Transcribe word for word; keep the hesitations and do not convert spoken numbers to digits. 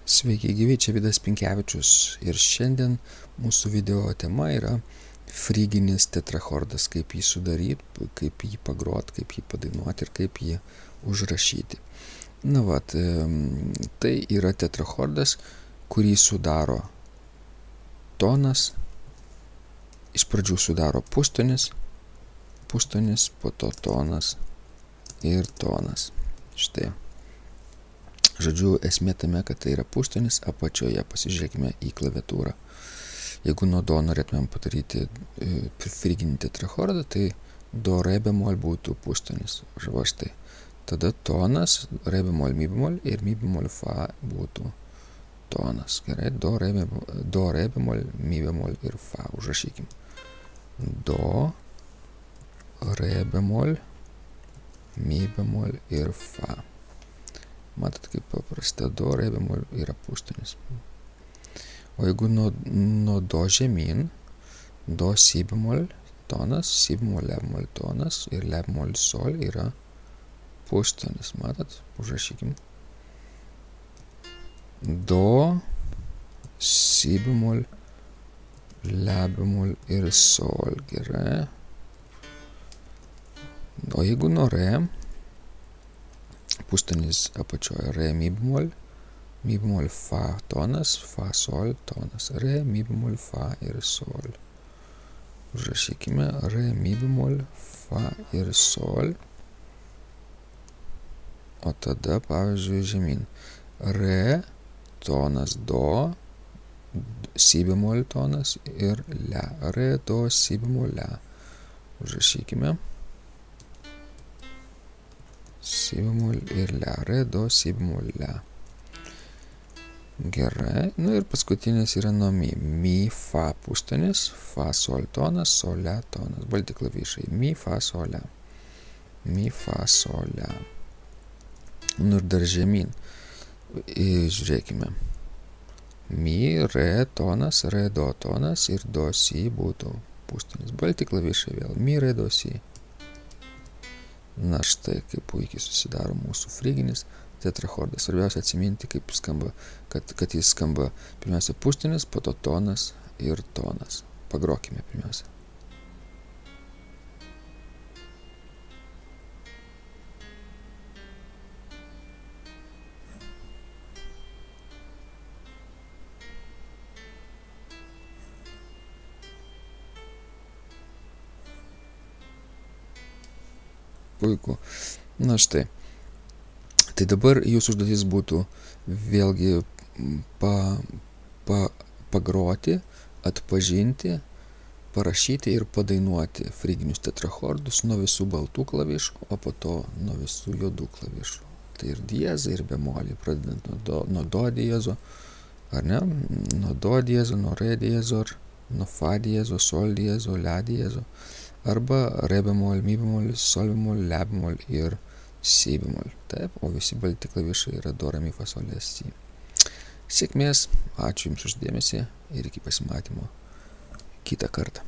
Sveiki gyvi, čia Vidas Pinkevičius ir šiandien mūsų video tema yra fryginis tetrachordas, kaip jį sudaryti, kaip jį pagrot, kaip jį padainuoti ir kaip jį užrašyti. Na vat, tai yra tetrachordas, kurį sudaro tonas, iš pradžių sudaro pustonis, pustonis, po to tonas ir tonas. Štai. Žodžiu, esmė tame, kad tai yra pustonis apačioje. Pasižiūrėkime į klaviatūrą. Jeigu nuo do norėtumėm padaryti fryginį tetrachordą, tai do, re bemol būtų pustonis. Va štai. Tada tonas, re bemol, mi bemol ir mi bemol, fa būtų tonas. Gerai, do, re bemol, do, re bemol, mi bemol ir fa. Užrašykim. Do, re bemol, mi bemol ir fa. Matot, kaip paprasta, do, re bemol yra pustonis. O jeigu nuo, nuo do žemyn, do, si bemol tonas, si bemol, le bemol tonas ir le bemol sol yra pustonis. Matot, užrašykim. Do, si bemol, le bemol ir sol. Gerai. O jeigu nuo re, pustonis apačioje, re, mi bemol, mi bemol, fa tonas, fa, sol tonas, re, mi bemol, fa ir sol. Užrašykime, re, mi bemol, fa ir sol. O tada, pavyzdžiui, žemyn. Re, tonas, do, si bemol tonas ir le. Re, do, si bemol, le. Užrašykime. Si bemol ir le, re, do, si bemol, le. Gerai, nu ir paskutinis yra nuo mi. Mi, fa pustonis, fa, sol tonas, sol, le tonas. Balti klavišai. Mi, fa, sol, le. Mi, fa, sol, le. Nu ir dar žemyn. Žiūrėkime. Mi, re tonas, re, do tonas ir do, si būtų pustonis. Balti klavišai vėl. Mi, re, do, si. Na štai, kaip puikiai susidaro mūsų fryginis tetrachordas. Svarbiausia atsiminti, kaip skamba, kad, kad jis skamba pirmiausia pustonis, po to tonas ir tonas. Pagrokime pirmiausia. Puiku. Na štai. Tai dabar jūsų užduotis būtų vėlgi pa, pa, pagroti, atpažinti, parašyti ir padainuoti fryginius tetrachordus nuo visų baltų klavišų, o po to nuo visų juodų klavišų. Tai ir diezai, ir bemoliai, pradedant nuo do, nuo do diezo, ar ne? Nuo do diezo, nuo re diezo, nuo fa diezo, sol diezo, le diezo, arba re bemol, mi bemol, sol bemol, le bemol ir si bemol. Taip, o visi balti klavišai yra do, re, mi, fa, sol, le, si. Sėkmės, ačiū Jums už dėmesį ir iki pasimatymo kitą kartą.